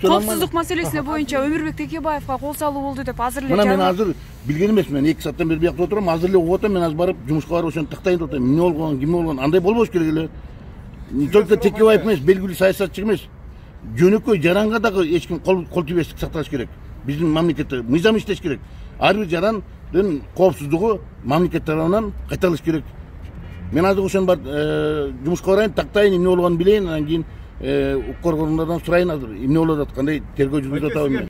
коопсуздук маселесине боюнча Өмүрбек Текебаевга кол салуу болду деп азыр эле мына мен азыр билген эмесмин. Мен 2 сааттан бери биякта отурам, азыр эле угуп атам. Мен азыр барып жумушка барып ошону тактайын деп атам. Эмне болгон, ким болгон, андай болбош керек эле. Не только Текебаев эмес, белгилүү саясатчы эмес. Жөнөкөй жаранга дагы эч ким кол тийбестик сакташ керек. Биздин мамлекетте мыйзам иштеш керек. Ар бир жарандын коопсуздугу мамлекет тарабынан кайталыш керек. Мен азыр ошону бар жумушка барайын, тактайын, эмне болгонун билейин, анан кийин укук коргоонунан сурайын азыр эмне болуп атат, кандай тергөө жүргүзүп атабы.